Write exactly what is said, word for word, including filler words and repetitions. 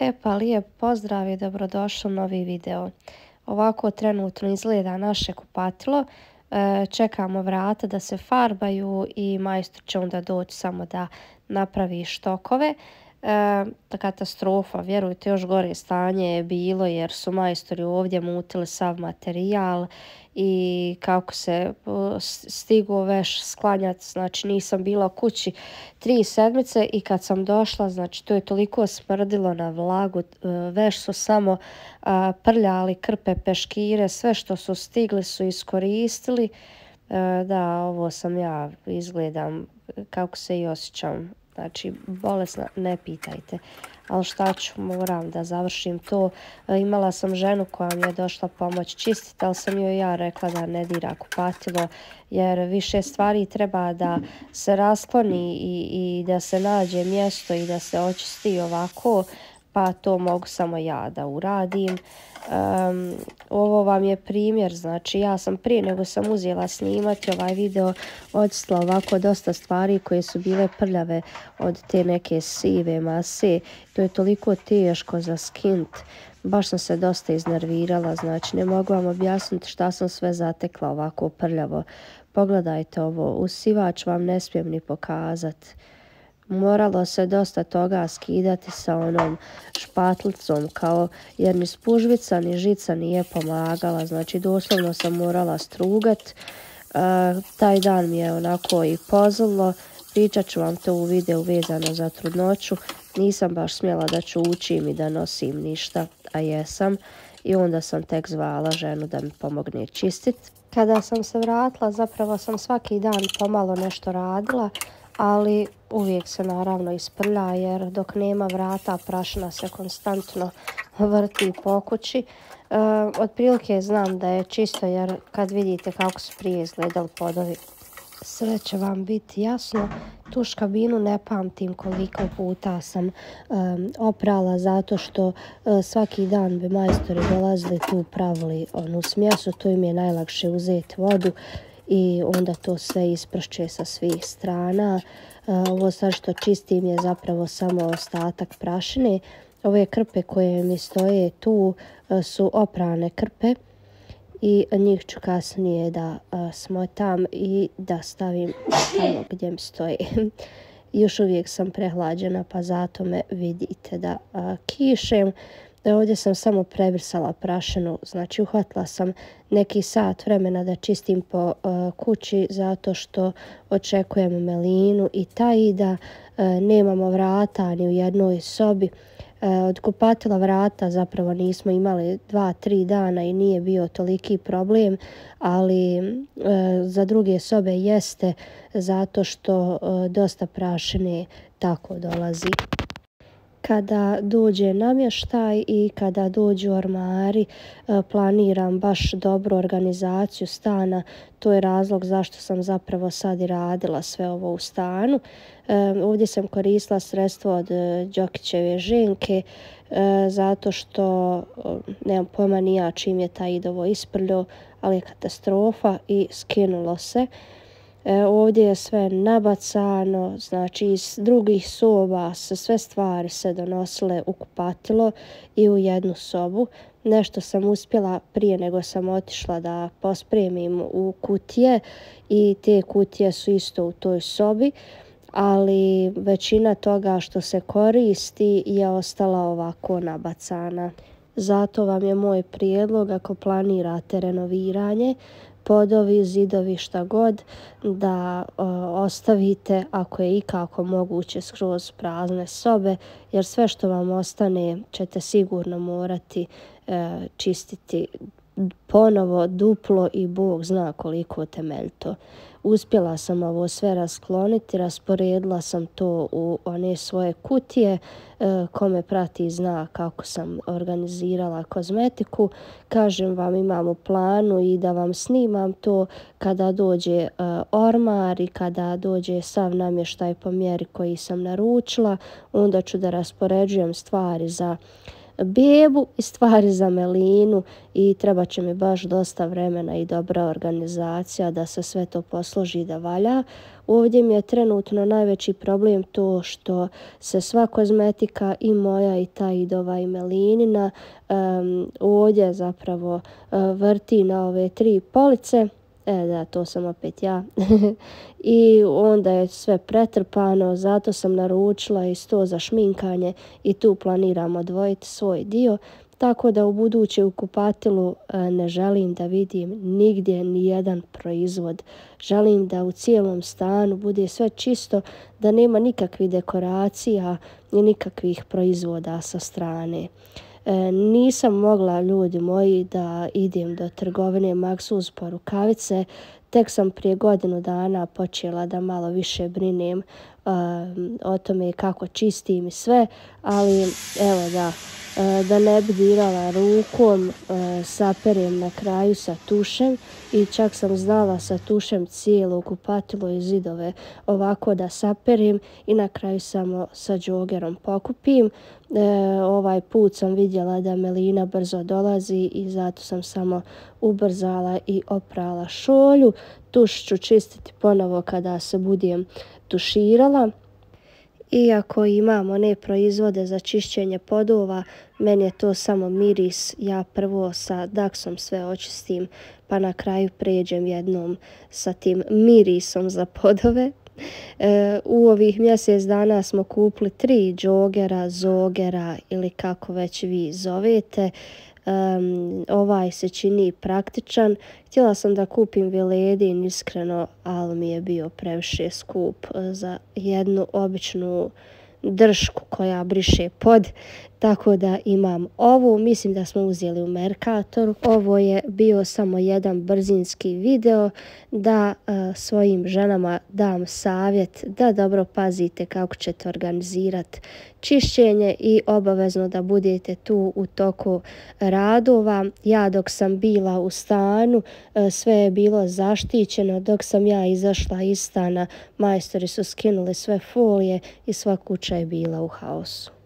E pa lijep pozdrav i dobrodošli u novi video. Ovako trenutno izgleda naše kupatilo. E, čekamo vrata da se farbaju i majstor će onda doći samo da napravi štokove. E, katastrofa, vjerujte, još gore stanje je bilo jer su majstori ovdje mutili sav materijal i kako se stigo veš sklanjati, znači nisam bila kući tri sedmice i kad sam došla, znači to je toliko smrdilo na vlagu, veš su samo a, prljali krpe, peškire, sve što su stigli su iskoristili. E, da, ovo sam ja, izgledam kako se i osjećam. Znači, bolesna, ne pitajte. Ali šta ću, moram da završim to. E, imala sam ženu koja mi je došla pomoć čistiti, ali sam joj ja rekla da ne dira kupatilo, jer više stvari treba da se raskloni i, i da se nađe mjesto i da se očisti ovako, pa to mogu samo ja da uradim. Um, ovo vam je primjer, znači ja sam prije nego sam uzela snimati ovaj video odstila ovako dosta stvari koje su bile prljave od te neke sive mase. To je toliko teško za skint, baš sam se dosta iznervirala, znači ne mogu vam objasniti šta sam sve zatekla ovako prljavo. Pogledajte ovo, usivač vam ne smijem ni pokazati. Moralo se dosta toga skidati sa onom špatlicom, kao jer ni spužvica ni žica nije pomagala, znači doslovno sam morala strugat. E, taj dan mi je onako i pozlilo, pričat ću vam to u videu vezano za trudnoću. Nisam baš smjela da ću učim i da nosim ništa, a jesam, i onda sam tek zvala ženu da mi pomogne čistiti. Kada sam se vratila, zapravo sam svaki dan pomalo nešto radila, ali uvijek se naravno isprlja jer dok nema vrata prašina se konstantno vrti po kući. E, otprilike znam da je čisto jer kad vidite kako su prije izgledali podovi, sve će vam biti jasno. Tu škabinu ne pamtim koliko puta sam um, oprala zato što uh, svaki dan bi majstori dolazili tu, pravili onu smjesu, tu im je najlakše uzeti vodu i onda to sve ispršće sa svih strana. Uh, ovo sad što čistim je zapravo samo ostatak prašine. Ove krpe koje mi stoje tu uh, su oprane krpe i njih ću kasnije da uh, smotam i da stavim tamo gdje mi stoje. Još uvijek sam prehlađena pa zato me vidite da uh, kišem. Ovdje sam samo prebrisala prašinu, znači uhvatila sam neki sat vremena da čistim po uh, kući zato što očekujem Melinu i taj da uh, nemamo vrata ni u jednoj sobi. Uh, od kupatila vrata zapravo nismo imali dva, tri dana i nije bio toliki problem, ali uh, za druge sobe jeste zato što uh, dosta prašine tako dolazi. Kada dođe namještaj i kada dođu ormari, planiram baš dobru organizaciju stana. To je razlog zašto sam zapravo sad i radila sve ovo u stanu. Ovdje sam koristila sredstvo od Đokićeve ženke zato što nemam pojma ni ja čim je taj idovo isprljao, ali je katastrofa i skinulo se. E, ovdje je sve nabacano, znači iz drugih soba se sve stvari se donosile u kupatilo i u jednu sobu. Nešto sam uspjela prije nego sam otišla da pospremim u kutije i te kutije su isto u toj sobi, ali većina toga što se koristi je ostala ovako nabacana. Zato vam je moj prijedlog, ako planirate renoviranje, podovi, zidovi, šta god, da o, ostavite ako je ikako moguće skroz prazne sobe, jer sve što vam ostane ćete sigurno morati e, čistiti ponovo duplo i Bog zna koliko temeljito. Uspjela sam ovo sve raskloniti, rasporedila sam to u one svoje kutije. E, ko me prati zna kako sam organizirala kozmetiku. Kažem vam, imam u planu i da vam snimam to kada dođe e, ormar i kada dođe sav namještaj po mjeri koji sam naručila. Onda ću da raspoređujem stvari za bebu i stvari za Melinu i treba će mi baš dosta vremena i dobra organizacija da se sve to posloži da valja. Ovdje mi je trenutno najveći problem to što se sva kozmetika i moja i ta Idova i Melinina um, ovdje zapravo uh, vrti na ove tri police. E da, to sam opet ja. I onda je sve pretrpano, zato sam naručila i sto za šminkanje i tu planiram odvojiti svoj dio. Tako da u buduće u kupatilu ne želim da vidim nigdje ni jedan proizvod. Želim da u cijelom stanu bude sve čisto, da nema nikakvih dekoracija ni nikakvih proizvoda sa strane. E, nisam mogla, ljudi moji, da idem do trgovine Maxus po rukavice. Tek sam prije godinu dana počela da malo više brinem um, o tome kako čistim i sve, ali evo da, uh, da ne bi dirala rukom, uh, saperem na kraju sa tušem i čak sam znala sa tušem cijelo kupatilo i zidove ovako da saperim i na kraju samo sa džogerom pokupim. E, ovaj put sam vidjela da Melina brzo dolazi i zato sam samo ubrzala i oprala šolju. Tuš ću čistiti ponovo kada se budem tuširala. Iako imam one proizvode za čišćenje podova, meni je to samo miris. Ja prvo sa Daxom sve očistim, pa na kraju pređem jednom sa tim mirisom za podove. E, u ovih mjesec dana smo kupili tri džogera, zogera ili kako već vi zovete. Um, ovaj se čini praktičan. Htjela sam da kupim Viledin iskreno, ali mi je bio previše skup za jednu običnu dršku koja briše pod. Tako da imam ovu, mislim da smo uzeli u Mercatoru. Ovo je bio samo jedan brzinski video da uh, svojim ženama dam savjet da dobro pazite kako ćete organizirati čišćenje i obavezno da budete tu u toku radova. Ja dok sam bila u stanu, uh, sve je bilo zaštićeno. Dok sam ja izašla iz stana, majstori su skinuli sve folije i sva kuća je bila u haosu.